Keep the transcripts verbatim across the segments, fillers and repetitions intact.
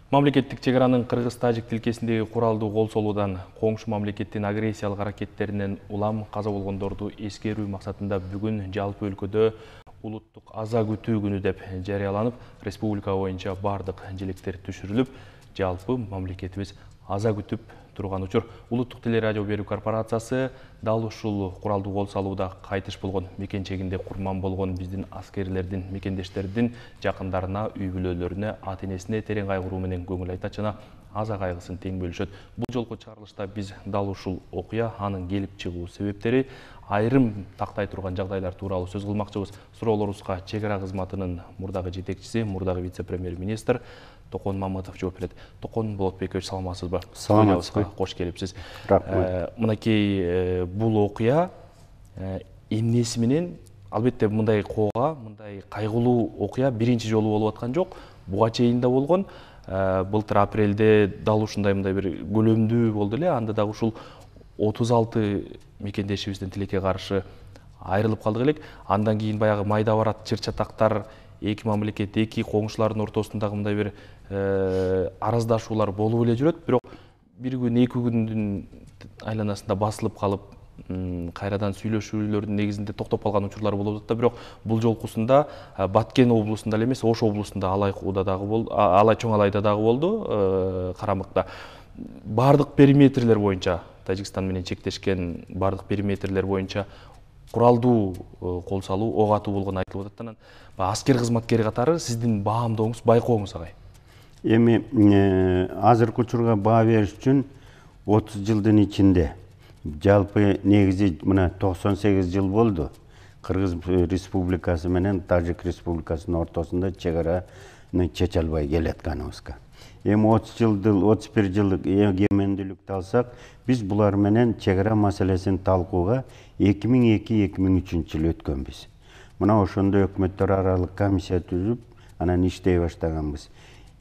Мамлекеттик чек аранын кыргыз-тажик тилкесиндеги куралдуу кол солуудан коңшу мамлекеттин агрессиялык аракеттеринен улам каза болгондорду эскерүү максатында бүгүн жалпы өлкөдө улуттук аза күтүү күнү деп жарыяланып, республика боюнча бардык желектер түшүрүлүп, жалпы мамлекетибиз аза күтүп турган учур. Улуттук телерадио берүү корпорациясы дал ушул куралдуу кол салууда кайтыш болгон, мекенчегинде курман болгон биздин аскерлердин, мекендештердин жакындарына, үй бүлөлөрүнө, ата энесине терең кайгыруу менен көңүл айтат жана аза кайгысын тең бөлүшөт. Бул жолку чыгарылышта биз дал ушул окуя, анын келип чыгуу себептери, айрым тактай турган жагдайлар тууралуу сөз кылмакчыбыз. Суроолорубузга чек ара кызматынын мурдагы жетекчиси, мурдагы вице-премьер-министр Токон Мамытов жооп берет. Токон Болотбекович, саламатсызбы? Саламатсызбы. Кош келипсиз. Рахмат. Мынакей бул окуя эмнеси менен, албетте мындай коога, мындай кайгылуу окуя биринчи жолу болуп аткан жок. Буга чейин да болгон. Былтыр апрелде дал ушундай мындай бир көлөмдүү болду эле. Анда дагы ушул отуз алты мекендешибиздин тилекке каршы айрылып калдык элек. Андан кийин баягы майда барат чыр-чатактар, эки мамлекет, эки коңшулардын ортосундагы мындай бир араздашуулар болуп эле жүрөт. Бирок бир күн, эки күндүн айланасында басылып калып, кайрадан сүйлөшүүлөрдүн негизинде токтоп калган учурлар болуп атат. Бирок бул жолкусунда Баткен облусунда эле эмес, Ош облусунда Алайкууда дагы болду, Алай чоң Алайда дагы болду, Карамыкта. Бардык периметрлер боюнча, Тажикстан менен чектешкен бардык периметрлер боюнча куралдуу кол салуу, ок атуу болгону айтылып атат. Анан аскер кызматкери катары сиздин баамдооңуз, байкооңуз агай? Эми азыркы учурга баа бериш үчүн отуз жылдын ичинде жалпы негизи мына токсон сегиз жыл болду Кыргыз Республикасы менен Тажик Республикасынын ортосунда чек араны чече албай келатканыбызга. Эми отуз жылдык, отуз бир жылдык эгемендүүлүктү алсак, биз булар менен чек ара маселесин талкууга эки миң эки эки миң үчүнчү жылы өткөнбүз. Мына ошондо өкмөттөр аралык комиссия түзүп, анан иштей баштаганбыз.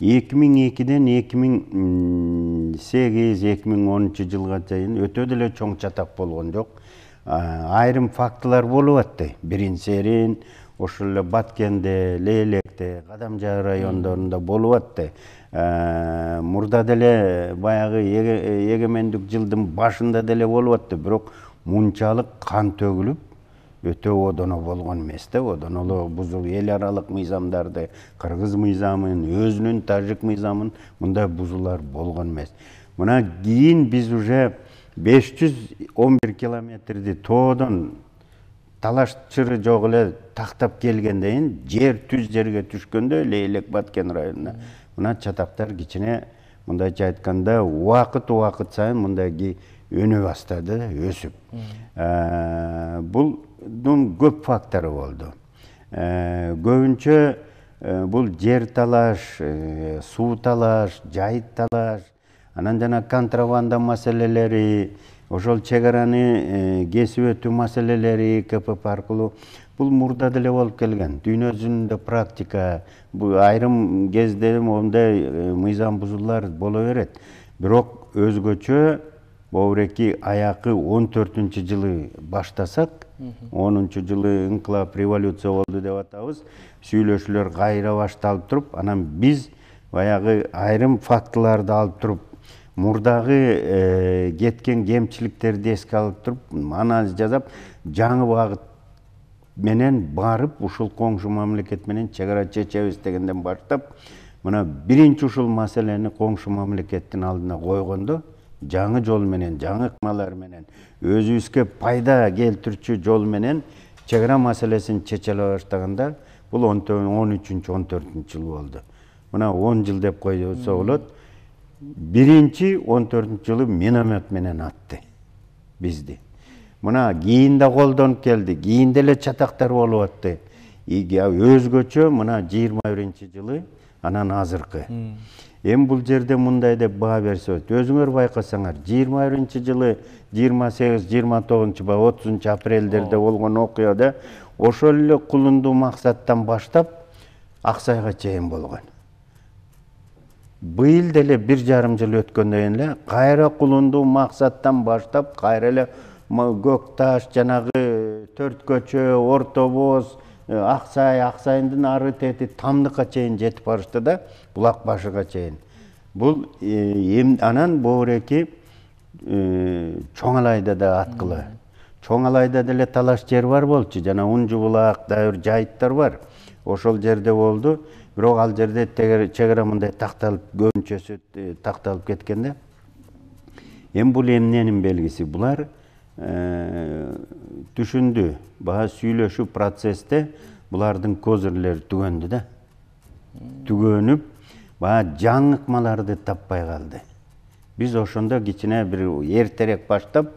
эки миң экиден эки миң сегиз эки миң онунчу жылга чейин өтө деле чоң чатак болгон жок. Айрым фактылар болуп атты. Биринсерин, ошол эле Баткенде, Лейлекте, Кадамжай райондорунда болуп атты. Мурда деле баягы эгемендик жылдын башында деле болуп атты. Бирок мунчалык кан төгүлүп, өтө одоно болгон эмес да. Одоно эле бузул эл аралык мыйзамдарды, кыргыз мыйзамын, өзүнүн тажик мыйзамын мындай бузуулар болгон эмес. Мына кийин биз уже беш жүз он бир километрди тоодон талашчыры жок эле тактап келгенден кийин жер түз жерге түшкөндө Лейлек Баткен районуна мына чатактар кичине мындайча айтканда убакыт убакыт сайын мындай өнө баштады, өсүп. Булдун көп фактору болду. Көбүнчө бул жер талаш, суу талаш, жайыт талаш, анан жана контрабанда маселелери, ошол чек араны кесип өтүү маселелери К П П аркылуу бул мурда деле болуп келген. Дүйнө жүзүндө практика, бул айрым кезде мондай мыйзам бузуулар боло берет. Бирок өзгөчө Бобуреки аякы он төртүнчү жылы баштасак, онунчу жылы инкылап, революция болду деп атабыз. Сүйлөшүүлөр кайра башталып туруп, анан биз баягы айрым фактыларды алып туруп, мурдагы кеткен кемчиликтерди эске алып туруп, анализ жасап, жаңы багыт менен барып, ушул коңшу мамлекет менен чек ара чечебиз дегенден баштап, мына биринчи ушул маселени коңшу мамлекеттин алдына койгондо, жаңы жол менен, жаңы ыкмалар менен, өзүбүзгө пайда келтирүүчү жол менен чек ара маселесин чечеле баштаганда, бул он үчүнчү он төртүнчү жыл болду. Мына он жыл деп койсо болот. Биринчи он төртүнчү жылы миномет менен атты бизди. Мына кийин да колдонуп келди, кийин деле чатактар болуп атты. Өзгөчө мына жыйырма биринчи жылы, анан азыркы. Эми бул жерде мындай деп баа берсе, өзүңөр байкасаңар, жыйырма биринчи жылы жыйырма сегиз жыйырма тогузунчу ба отузунчу апрелдерде болгон окуяда ошол эле кулундуу максаттан баштап Аксайга чейин болгон. Быйыл деле бир жарым жыл өткөндөн эле кайра кулундуу максаттан баштап кайра эле Көк Таш, жанагы Төрт көчө, Орто Боз, Аксай, Аксайдын ары тети Тамдыкка чейин жетип барышты да, Булак башыга чейин. Бул эм анан Боореки Чоңалайда да аткыла. Чоңалайда деле талаш жер бар болчу. Жана Унжу булак, дайыр жайыттар бар. Ошол жерде болду. Бирок ал жерде чегара мындай такталып, көбүнчөсү такталып кеткенде. Эми бул эмненин белгиси? Булар түшүндү. Баа сүйлөшүү процессте булардын козырлери түгөндү да. Түгөнүп, баа жаңыкмаларды таппай калды. Биз ошондо кичине бир эртерээк баштап,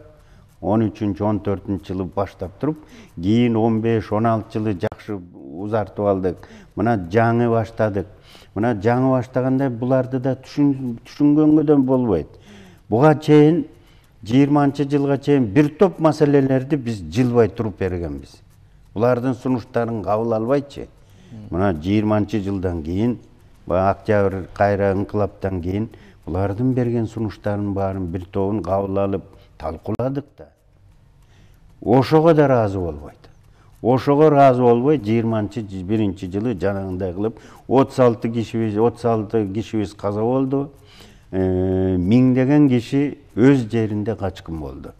он үчүнчү он төртүнчү жылы баштап туруп, кийин он беш он алты жылы жакшы узартып алдык. Мына жаңы баштадык. Мына жаңы баштаганда буларды да түшүнгөнгө да болбойт. Буга чейин жыйырманчы жылга чейин бир топ маселелерди биз жылбай туруп бергенбиз. Булардын сунуштарын кабыл албайчы. Мына жыйырманчы жылдан кийин, баа Октябрь кайра инкылаптан кийин булардын берген сунуштарынын баарын бир тобун кабыл алып талкууладык да. Ошого да ыраазы болбойт. Ошого ыраазы болбой жыйырманчы биринчи жылы жанагындай кылып отуз алты кишибиз отуз алты кишибиз каза болду. Миңдеген киши өз жеринде качкын болду.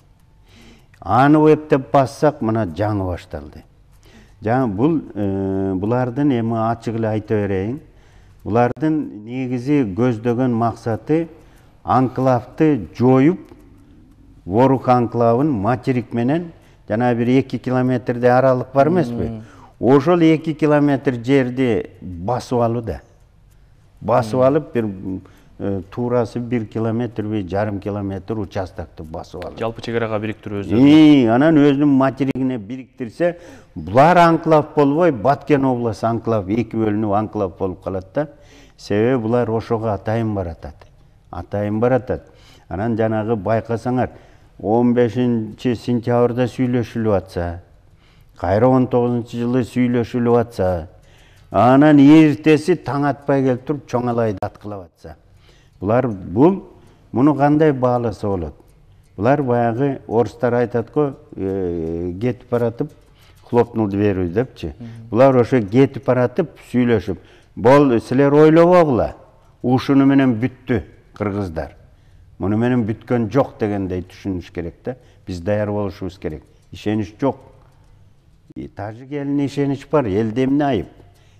Аны эптеп бассак, мына жаңы башталды. Жаңы бул булардын эми ачык эле айта берейин. Булардын негизи көздөгөн максаты анклавды жоюп, Ворук анклавын материк менен жана бир эки километрде аралык бар эмеспи? Ошол эки километр жерди басып алуу да. Басып алып бир туурасы бир километр же жарым километр участокты басып алып. Жалпы чегарага бириктирүү өзү. Анан өзүнүн материгине бириктирсе, булар анклав болбой, Баткен областы анклав эки бөлүнүп анклав болуп калат да. Себеби булар ошого атайын баратат. Атайын баратат. Анан жанагы байкасаңар, он бешинчи сентябрда сүйлөшүлүп атса, кайра он тогузунчу жылы сүйлөшүлүп атса, анан эртеси таң атпай келип туруп Чоңалайды аткылап атса. Булар бул муну кандай бааласа болот? Булар баягы орустар айтат го, кетип баратып хлопнул дверью депчи. Булар ошо кетип баратып сүйлөшүп, бол силер ойлобогула, ушуну менен бүттү кыргыздар. Муну менен бүткөн жок дегендей түшүнүш керек да. Биз даяр болушубуз керек. Ишенич жок. Тажик элине ишенич бар, элде эмне айып?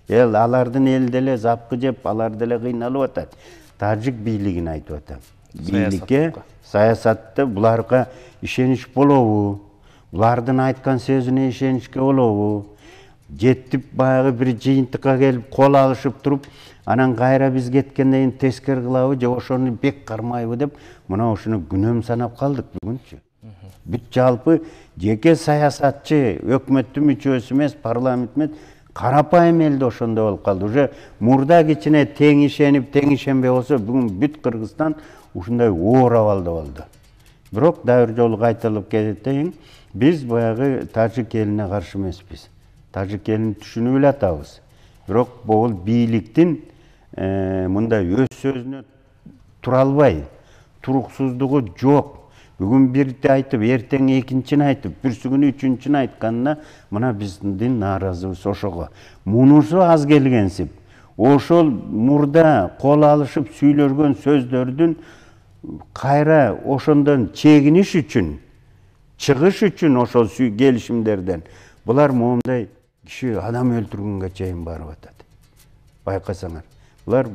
Эл алардын эл деле запкы жеп, алар деле кыйналып атат. Тажик бийлигин айтып атам. Бийликке, саясатта буларга ишенич болобу? Булардын айткан сөзүнө ишеничке болобу? Жеттип баягы бир жыйынтыкка келип кол алышып туруп, анан кайра биз кеткенден кийин тескер кылабы же ошону бек кармайбы деп, мына ошону күнөм санап калдык бүгүнчү. Бүт жалпы жеке саясатчы, өкмөттүн мүчөсү эмес, парламент эмес, карапайым элде ошондой болуп калды. Уже мурда кичине тең ишенип, тең ишенбей болсо, бүгүн бүт Кыргызстан ушундай оор абалда болду. Бирок дайыр жолу кайталып кетейин, биз баягы тажик элине каршы эмеспиз. Тажик элин түшүнүп эле атабыз. Бирок бул бийликтин мындай өз сөзүнө тура албай, туруксуздугу жок. Бүгүн бирди айтып, эртең экинчини айтып, бүрсү күнү үчүнчүнү айтканына мына биздин нааразыбыз ошого. Мунусу аз келгенсип. Ошол мурда кол алышып сүйлөгөн сөздөрдүн кайра ошондон чегиниш үчүн, чыгыш үчүн ошол келишимдерден булар моундай киши адам өлтүргөнгө чейин барып атат. Байкасаңар. Булар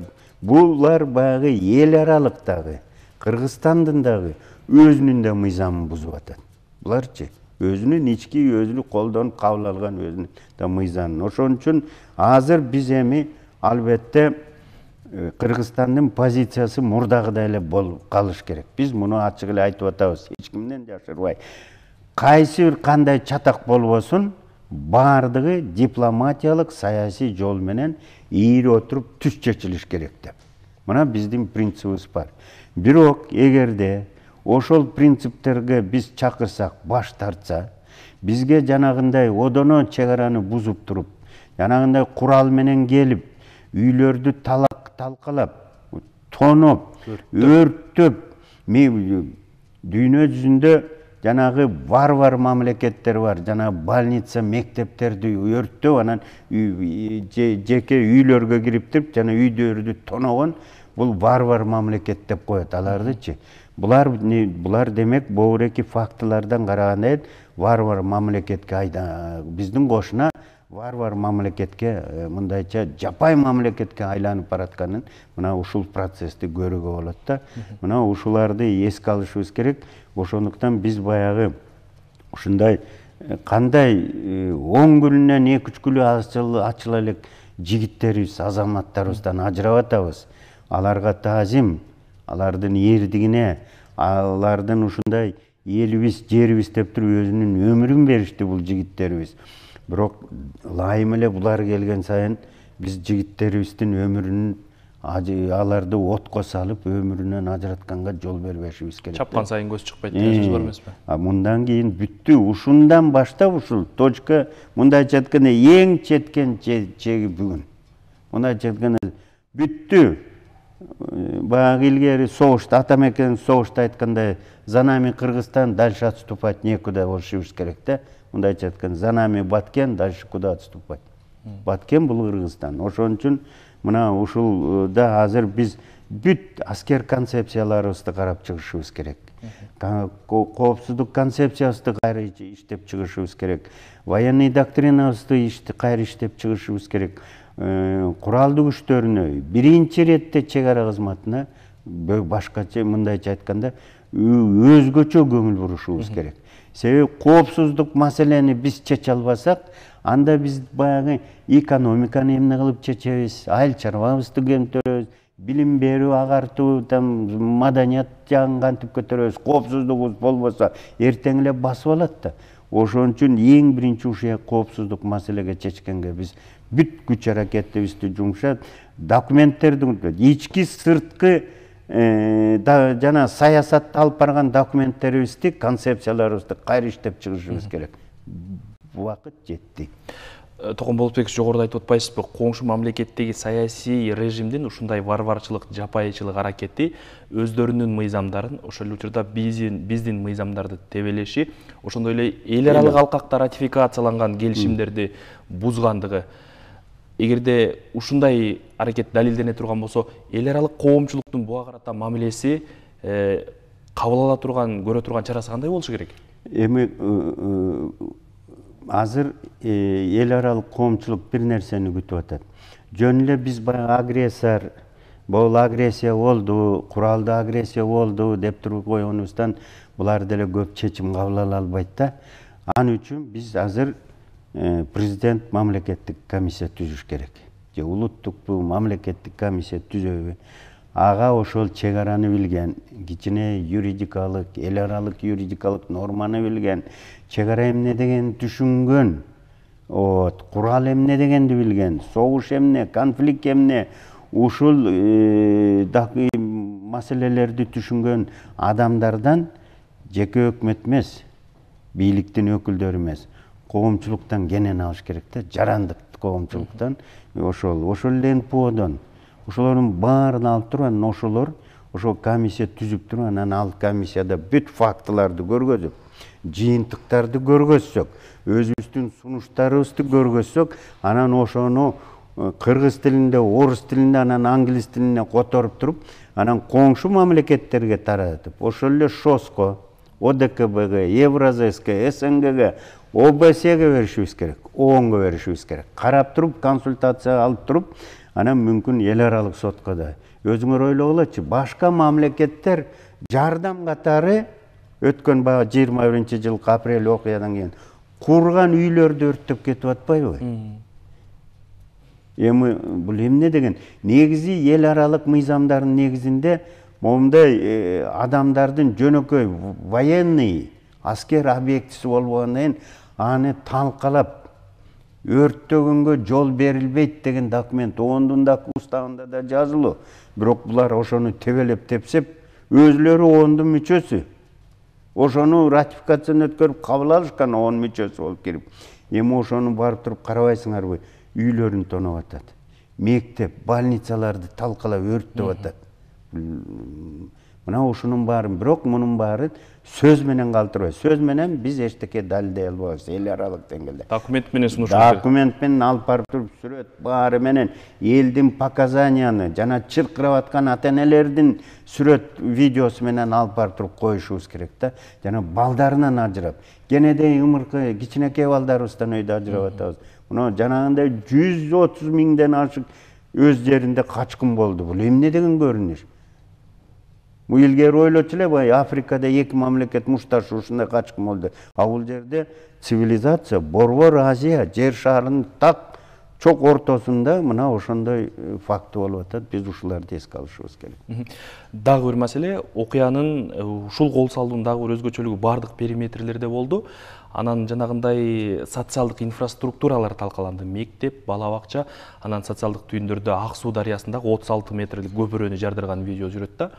булар баягы эл аралыктагы, Кыргызстандын дагы өзүнүн да мыйзамын бузуп атат. Буларчы өзүнүн ички өзүнүн колдонуп кабыл алган өзүнүн да мыйзамын. Ошон үчүн азыр биз эми албетте Кыргызстандын позициясы мурдагыдай эле болуп калыш керек. Биз муну ачык эле айтып атабыз, эч кимден жашырбай. Кайсы бир кандай чатак болбосун, баардыгы дипломатиялык, саясий жол менен ийири отуруп түз чечилиш керек деп. Мына биздин принцибибиз бар. Бирок эгерде ошол принциптерге биз чакырсак, баш тартса, бизге жанагындай одоно чегараны бузуп туруп, жанагындай курал менен келип, үйлөрдү талак талкалап, тоноп, өрттөп, дүйнө жүзүндө жанагы варвар мамлекеттер бар, жана больница, мектептерди өрттөп, анан жеке үйлөргө кирип туруп, жана үйдөрдү тоногон бул варвар мамлекет деп коет алардычы. Булар булар демек богуреки фактылардан караганда варвар мамлекетке айда биздин кошуна варвар мамлекетке мындайча жапай мамлекетке айланып баратканын мына ушул процессти көрүүгө болот да. Мына ушуларды эске алышыбыз керек. Ошондуктан биз баягы ушундай кандай он күнүнөн эки үч күнү ачыла элек жигиттерибиз, азаматтарыбыздан ажырап атабыз. Аларга таазим, алардын эрдигине, алардын ушундай элибиз, жерибиз деп туруп өзүнүн өмүрүн беришти бул жигиттерибиз. Бирок лайым эле булар келген сайын биз жигиттерибиздин өмүрүнүн аларды отко салып өмүрүнөн ажыратканга жол бербешибиз керек. Чапкан сайын көз чыкпайт деген сөз бар эмеспи? А мындан кийин бүттү. Ушундан баштап ушул точка мындайча айтканда эң четкен чеги бүгүн. Мындайча айтканда бүттү. Баягы илгери согушта атамекен согушта айткандай за нами Кыргызстан, дальше отступать некуда болушубуз керек да. Мындайча айтканда за нами Баткен, дальше куда отступать. Баткен бул Кыргызстан. Ошон үчүн мына ушулда азыр биз бүт аскер концепцияларыбызды карап чыгышыбыз керек. Коопсуздук концепциябызды кайра иштеп чыгышыбыз керек. Военный доктринабызды кайра иштеп чыгышыбыз керек. Куралдуу күчтөрүнө биринчи иретте чек ара кызматына башкача мындайча айтканда өзгөчө көңүл бурушубуз керек. Себеби коопсуздук маселени биз чече албасак, анда биз баягы экономиканы эмне кылып чечебиз, айыл чарбабызды кемтөрөбүз, билим берүү, агартуу, маданият жагын кантип көтөрөбүз, коопсуздугубуз болбосо эртең эле басып алат да. Ошон үчүн эң биринчи ушул коопсуздук маселеге чечкенге биз бүт күч аракетибизди жумшап, документтердин ички сырткы жана саясатты алып барган документтерибизди, концепцияларыбызды кайра иштеп чыгышыбыз керек. Убакыт жетти. Токон Болотбекович, жогоруда айтып атпайсызбы, коңшу мамлекеттеги саясий режимдин ушундай варварчылык, жапайычылык аракети өздөрүнүн мыйзамдарын, ошол учурда биздин биздин мыйзамдарды тебелеши, ошондой эле эл аралык алкакта ратификацияланган келишимдерди бузгандыгы. Эгерде ушундай аракет далилдене турган болсо, эл аралык коомчулуктун буга карата мамилеси кабыл ала турган, көрө турган чарасы кандай болушу керек? Эми азыр эл аралык коомчулук бир нерсени күтүп атат. Жөн эле биз баягы агрессор, бул агрессия болду, куралдуу агрессия болду деп туруп койгонубуздан булар деле көп чечим кабыл ала албайт да. Ал үчүн биз азыр президент мамлекеттик комиссия түзүш керек. Же улуттук мамлекеттик комиссия түзөбү? Ага ошол чек араны билген, кичине юридикалык, эл аралык юридикалык норманы билген, чек ара эмне дегенди түшүнгөн, курал эмне дегенди билген, согуш эмне, конфликт эмне, ушул маселелерди түшүнгөн адамдардан жеке өкмөт эмес, бийликтин өкүлдөрү эмес, коомчулуктан кенен алыш керек да, жарандык коомчулуктан, ошол ошол эле эн пэ одон ошолордун баарын алып туруп, анан ошолор ошол комиссия түзүп туруп, анан ал комиссияда бүт фактыларды көргөзүп, жыйынтыктарды көргөзсөк, өзүбүздүн сунуштарыбызды көргөзсөк, анан ошону кыргыз тилинде, орус тилинде, анан англис тилине которуп туруп, анан коңшу мамлекеттерге таратып, ошол эле ШОСко, о дэ ка бэ ге, Евразэске, эс эн гэ ге, о бэ сэге беришибиз керек, оонго беришибиз керек. Карап туруп, консультация алып туруп, анан мүмкүн эл аралык сотко да. Өзүңөр ойлогулачы, башка мамлекеттер жардам катары өткөн баягы жыйырма биринчи жылкы апрель окуядан кийин курган үйлөрдү өрттөп кетип атпайбы? Эми бул эмне деген? Негизи эл аралык мыйзамдардын негизинде момундай адамдардын жөнөкөй военный аскер объектиси болбогондон кийин аны талкалап өрттөгөнгө жол берилбейт деген документ ондун да уставында да жазылуу. Бирок булар ошону тебелеп тепсеп, өзүлөрү ондун мүчөсү. Ошону ратификацияны өткөрүп кабыл алышкан он мүчөсү болуп кирип. Эми ошону барып туруп карабайсыңарбы? Үйлөрүн тоноп атат. Мектеп, больницаларды талкалап өрттөп атат. Мына ушунун баарын, бирок мунун баары сөз менен калтырбайт. Сөз менен биз эчтеке далилдей албайбыз эл аралык деңгээлде. Документ менен сунуш. Документ менен алып барып туруп сүрөт баары менен элдин показанияны жана чыркырап аткан ата-энелердин сүрөт видеосу менен алып барып туруп коюшубуз керек да. Жана балдарынан ажырап, кенедей ымыркы кичинекей балдарыбыздан өйдө ажырап атабыз. Мына жанагындай жүз отуз миңден ашык өз жеринде качкын болду. Бул эмне деген көрүнүш? Бул илгери ойлочу эле, бай Африкада эки мамлекет мушташы ушундай качкын болду. А бул жерде цивилизация, борбор Азия, жер шарынын так чок ортосунда мына ошондой факты болуп атат. Биз ушуларды эске алышыбыз керек. Дагы бир маселе, окуянын ушул кол салуунун дагы бир өзгөчөлүгү бардык периметрлерде болду. Анан жанагындай социалдык инфраструктуралар талкаланды. Мектеп, бала бакча, анан социалдык түйүндөрдө Ак Суу дарыясындагы отуз алты метрлик көпүрөнү жардырган видео жүрөт да.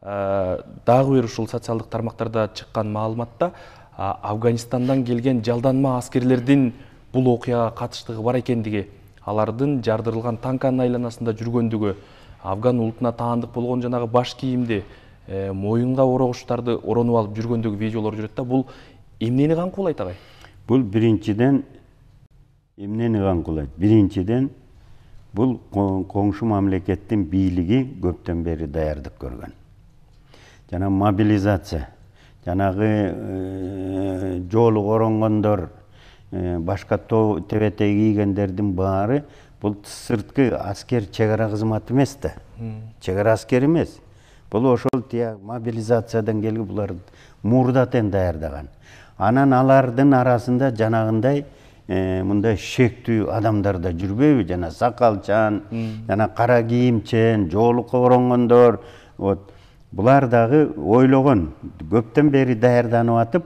Дагы бир ушул социалдык тармактарда чыккан маалыматта Афганистандан келген жалданма аскерлердин бул окуяга катыштыгы бар экендиги, алардын жардырылган танканын айланасында жүргөндүгү, афган улутуна таандык болгон жанагы баш кийимди, моюнга орогучтарды оронуп алып жүргөндүгү видеолор жүрөт да. Бул эмнени камкуулайт агай? Бул биринчиден эмнени камкуулайт? Биринчиден бул коңшу мамлекеттин бийлиги көптөн бери даярдык көргөн. Жана мобилизация, жанагы жолу оронгондор, башка тебетей кийгендердин баары бул сырткы аскер чек ара кызматы эмес да. Чек ара аскери эмес. Бул ошол тия мобилизациядан келип булар мурдатен даярдаган. Анан алардын арасында жанагындай мындай шектүү адамдар да жүрбөйбү? Жана сакалчан, жана кара кийимчен, жолукка оронгондор, вот булар дагы ойлогон, көптөн бери даярданып атып,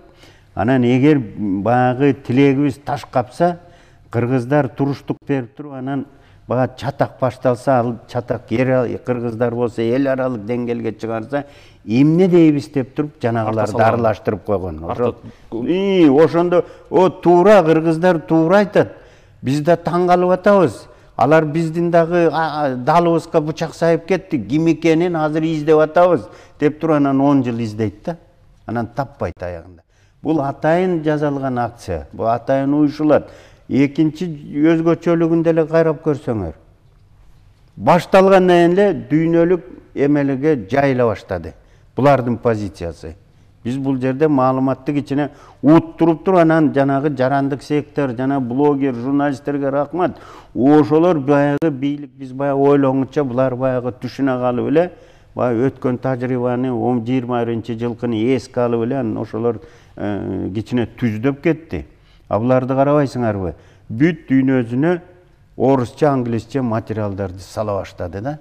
анан эгер баягы тилегибиз таш капса, кыргыздар туруштук берип туруп, анан бага чатак башталса, ал чатак кыргыздар болсо эл аралык деңгээлге чыгарса, эмне дейбиз деп туруп жанагыларды аралаштырып койгон. Ошондо о туура кыргыздар туура айтат. Биз да таң калып атабыз. Алар биздин дагы далыбызга бычак сайып кетти. Ким экенин азыр издеп атабыз деп туруп анан он жыл издейт да. Анан таппайт аягында. Бул атайын жасалган акция. Бул атайын уюшулат. Экинчи өзгөчөлүгүн деле карап көрсөңөр. Башталгандан эле дүйнөлүк эмелеге жайыла баштады. Булардын позициясы. Биз бул жерде маалыматты кичине уттуруп туруп, анан жанагы жарандык сектор, жана блогер, журналисттерге рахмат. Ошолор баягы бийлик, биз баягы ойлоңуча булар баягы түшүнө калып эле, баягы өткөн тажрыйбаны он жыйырма биринчи жылкыны эске алып эле, анан ошолор кичине түздөп кетти. А буларды карабайсыңарбы? Бүт дүйнөсүнө орусча, англисче материалдарды сала баштады да.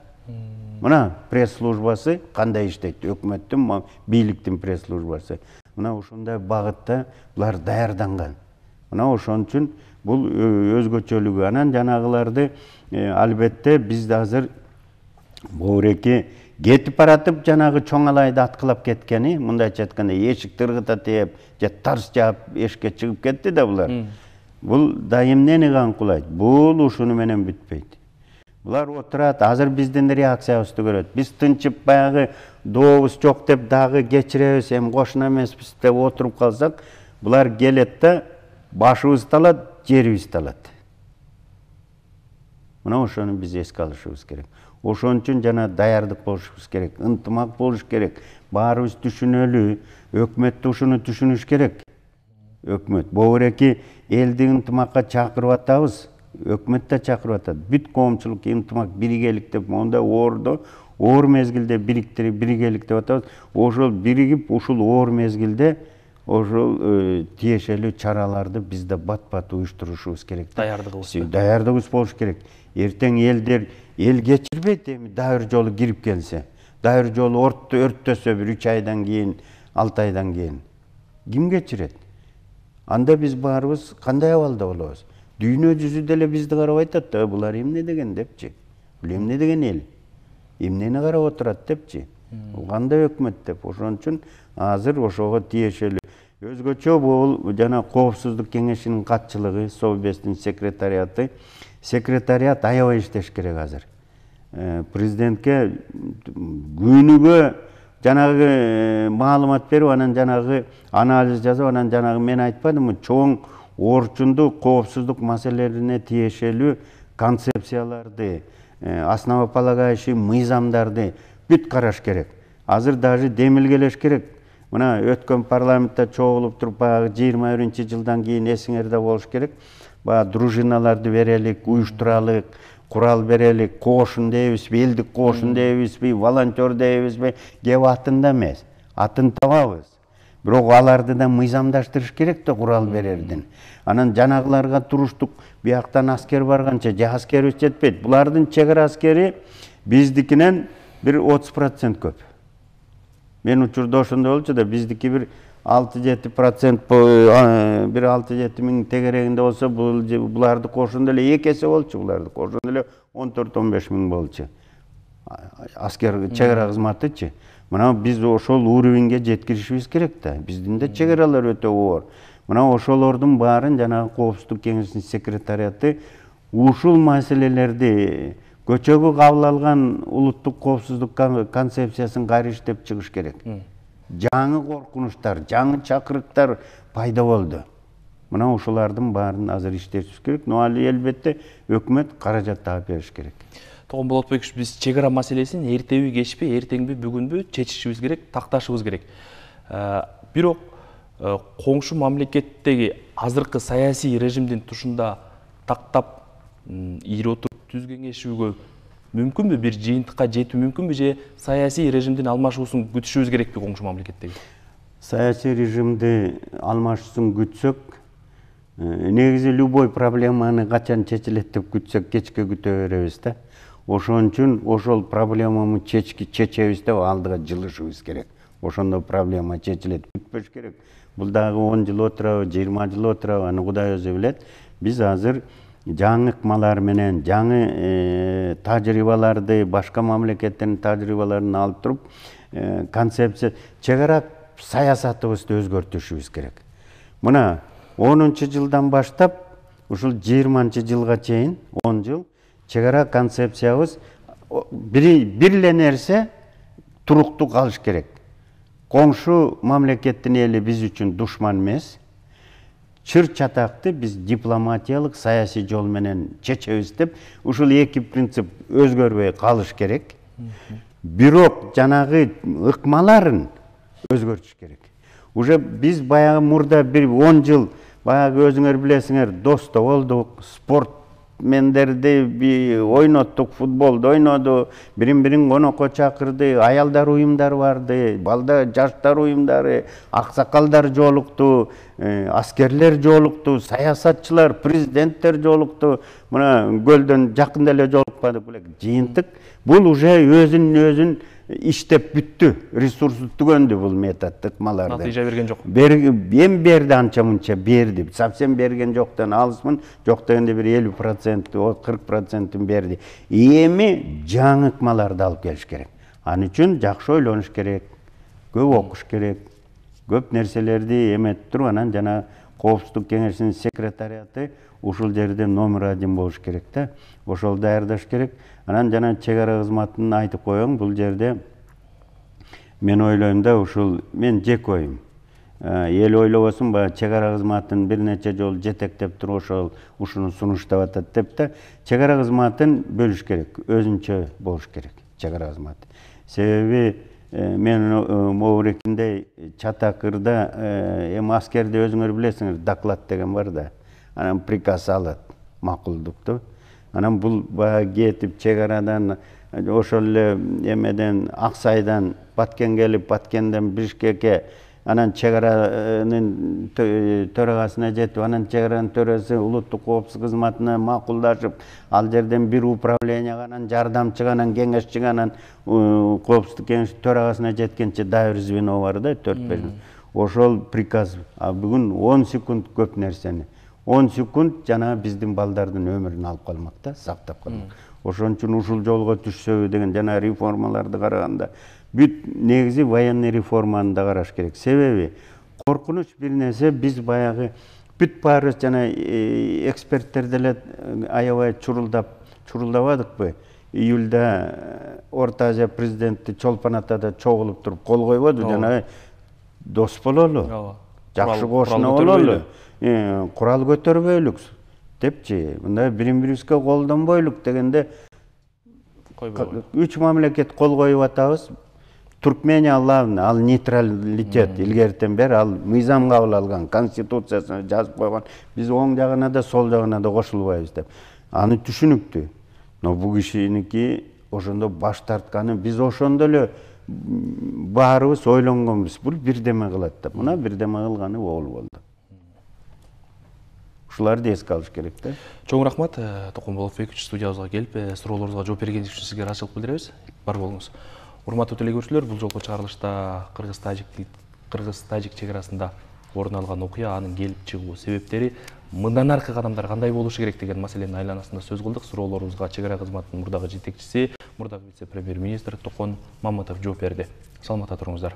Мына пресс-службасы кандай иштейт? Өкмөттүн, бийликтин пресс-службасы. Мына ушундай багытта булар даярданган. Мына ошон үчүн бул өзгөчөлүгү. Анан жанагыларды албетте биз азыр боореки кетип баратып жанагы чоңалайды аткылап кеткени, мындайча айтканда эшик тыргыта тээп, же тарс жаап эшикке чыгып кетти да булар. Бул да эмнени камкуулайт? Бул ушуну менен бүтпөйт. Булар отурат, азыр биздин реакциябызды көрөт. Биз тынчып баягы дообуз жок деп дагы кечиребиз, эми кошуна эмеспиз деп отуруп калсак, булар келет да башыбызды алат, жерибизди алат. Мына ошону биз эске алышыбыз керек. Ошон үчүн жана даярдык болушубуз керек, ынтымак болуш керек. Баарыбыз түшүнөлү, өкмөт ушуну түшүнүш керек. Өкмөт боореки элди ынтымакка чакырып атабыз. Өкмөт да чакырып атат. Бүт коомчулук ынтымак, биригелик деп мондай оордо, оор мезгилде бириктирип, биригелик деп атабыз. Ошол биригип, ушул оор мезгилде ошол тиешелүү чараларды биз да бат-бат уюштурушубуз керек. Даярдыгыбыз. Даярдыгыбыз болуш керек. Эртең элдер эл кечирбейт, эми дагы бир жолу кирип келсе. Дагы бир жолу өрттөсө бир үч айдан кийин, алты айдан кийин. Ким кечирет? Анда биз баарыбыз кандай абалда болобуз? Дүйнө жүзү деле бизди карап айтат да, булар эмне деген депчи. Бул эмне деген эл? Эмнени карап отурат депчи. Бул кандай өкмөт деп. Ошон үчүн азыр ошого тиешелүү. Өзгөчө бул жана Коопсуздук кеңешинин катчылыгы, Совбездин секретариаты, секретариат аябай иштеш керек азыр. Президентке күнүгө жанагы маалымат берип, анан жанагы анализ жасап, анан жанагы мен айтпадымбы, чоң орчундук коопсуздук маселелерине тиешелүү концепцияларды, основополагающий мыйзамдарды бүт караш керек. Азыр даже демилгелеш керек. Мына өткөн парламентте чогулуп туруп, баягы жыйырма биринчи жылдан кийин эсиңерде болуш керек. Баягы дружиналарды берелик, уюштуралык, курал берелик, кошун дейбизби, элдик кошун дейбизби, волонтер дейбизби, кеп атында эмес. Атын табабыз. Бирок аларды да мыйзамдаштырыш керек да курал берердин. Анан жанагыларга туруштук, бияктан аскер барганча, же аскерибиз жетпейт. Булардын чек ара аскери биздикинен бир отуз процент көп. Мен учурда ошондой болчу да, биздики бир алты жети процент, бир алты жети миң тегерегинде болсо, буларды кошондо эле эки эсе болчу, буларды кошондо эле он төрт он беш миң болчу. Аскер чек ара кызматычы. Мына биз ошол уровеньге жеткиришибиз керек да. Биздин да чек аралар өтө оор. Мына ошолордун баарын жанагы Коопсуздук кеңешинин секретариаты ушул маселелерди көчөгө кабыл алган улуттук коопсуздук концепциясын кайра иштеп чыгыш керек. Жаңы коркунучтар, жаңы чакырыктар пайда болду. Мына ошолордун баарын азыр иштешибиз керек. Но али элбетте өкмөт каражат таап бериш керек. Тогон Болотбекович, биз чек ара маселесин эртеби, кечпи, эртеңби, бүгүнбү чечишибиз керек, такташыбыз керек. Бирок коңшу мамлекеттеги азыркы саясий режимдин тушунда тактап ийип отуруп түз кеңешүүгө мүмкүнбү, бир жыйынтыкка жетүү мүмкүнбү, же саясий режимдин алмашуусун күтүшүбүз керекпи коңшу мамлекеттеги? Саясий режимди алмашуусун күтсөк, негизи любой проблеманы качан чечилет деп күтсөк кечке күтө беребиз да. Ошон үчүн ошол проблеманы чечебиз деп алдыга жылышыбыз керек. Ошондо проблема чечилет, күтпөш керек. Бул дагы он жыл отурабы, жыйырма жыл отурабы, аны Кудай өзү билет. Биз азыр жаңы ыкмалар менен, жаңы тажрыйбаларды, башка мамлекеттердин тажрыйбаларын алып туруп, концепция, чек ара саясатыбызды өзгөртүшүбүз керек. Мына онунчу жылдан баштап, ушул жыйырманчы жылга чейин, он жыл, чек ара концепциябыз бир эле нерсе туруктуу калыш керек. Коңшу мамлекеттин эли биз үчүн душман эмес. Чыр чатакты биз дипломатиялык, саясий жол менен чечебиз деп, ушул эки принцип өзгөрбөй калыш керек. Бирок жанагы ыкмаларын өзгөртүш керек. Уже биз баягы мурда бир он жыл, баягы өзүңөр билесиңер, досто болдук, спорт мендерди ойноттук, футболду ойноду, бирин-бирин конокко чакырды, аялдар уюмдары барды, балдар, жаштар уюмдары, аксакалдар жолукту, аскерлер жолукту, саясатчылар, президенттер жолукту. Мына көлдөн жакында эле жолукпадык белек. Жыйынтык бул уже өзүн-өзүн иштеп бүттү, ресурсу түгөндү бул метод ыкмаларды. Натыйжа берген жок. Эми берди, анча мынча берди. Совсем берген жоктан алысмын, жок дегенде бир элүү процент, кырк процентин берди. Эми жаңы ыкмаларды алып келиш керек. Аны үчүн жакшы ойлонуш керек, көп окуш керек, көп нерселерди эметип туруп, анан жана Коопсуздук кеңешинин секретариаты ушул жерде номер один болуш керек да. Ошол даярдаш керек. Анан жана чек ара кызматын айтып коеюн, бул жерде мен ойлойм да, ушул мен жеке оюм. Эл ойлобосун, баягы чек ара кызматын бир нече жолу жетектеп туруп ошол ушуну сунуштап атат деп да, чек ара кызматын бөлүш керек, өзүнчө болуш керек чек ара кызматы. Себеби мен могурекиндей чатакырда эми аскерде өзүңөр билесиңер, доклад деген бар да. Анан приказ алат, макулдукту. Анан бул баягы кетип чек арадан, ошол эле эмеден, Аксайдан Баткен келип, Баткенден Бишкекке, анан чек аранын төрагасына жетип, анан чек аранын төрөсү улуттук коопсуздук кызматына макулдашып, ал жерден бир управленияга, анан жардамчыга, анан кеңешчиге, анан коопсуздук кеңешинин төрагасына жеткенче дайыр звено бар да, төрт беш. Ошол приказ, а бүгүн он секунд көп нерсени. он секунд жана биздин балдардын өмүрүн алып калмак да, сактап калмак. Ошон үчүн ушул жолго түшсөбү деген жана реформаларды караганда бүт негизи военный реформаны да караш керек. Себеби коркунуч бир нерсе, биз баягы бүт баарыбыз жана эксперттер деле аябай чурулдап чурулдабадыкпы? июльда Орто Азия президенти Чолпон Атада чогулуп туруп кол койбоду, жанагы дос бололу, жакшы кошуна бололу, курал көтөрбөйлүк депчи, мындай бири бирибизге колдонбойлук дегенде үч мамлекет кол коюп атабыз. Туркмения главный, ал нейтралитет, илгертен бери ал мыйзам кабыл алган, конституциясына жазып койгон, биз оң жагына да, сол жагына да кошулбайбыз деп. Аны түшүнүктүү. Но бул кишиники ошондо баш тартканы, биз ошондо эле баарыбыз ойлонгонбуз, бул бирдеме кылат деп. Мына бирдеме кылганы ол болду. Ушуларды эске алыш керек да. Чоң рахмат, Токон Болотбекович студиябызга келип, суроолорубузга жооп бергениңиз үчүн сизге ыраазычылык билдиребиз. Бар болуңуз. Урматтуу телекөрүүчүлөр, бул жолку чыгарылышта Кыргыз-Тажик чек арасында орун алган окуя, анын келип чыгуу себептери, мындан аркы кадамдар кандай болушу керек деген маселенин айланасында сөз кылдык. Суроолорубузга чек ара кызматынын мурдагы жетекчиси, мурдагы вице-премьер-министр Токон Мамытов жооп берди. Саламатта туруңуздар.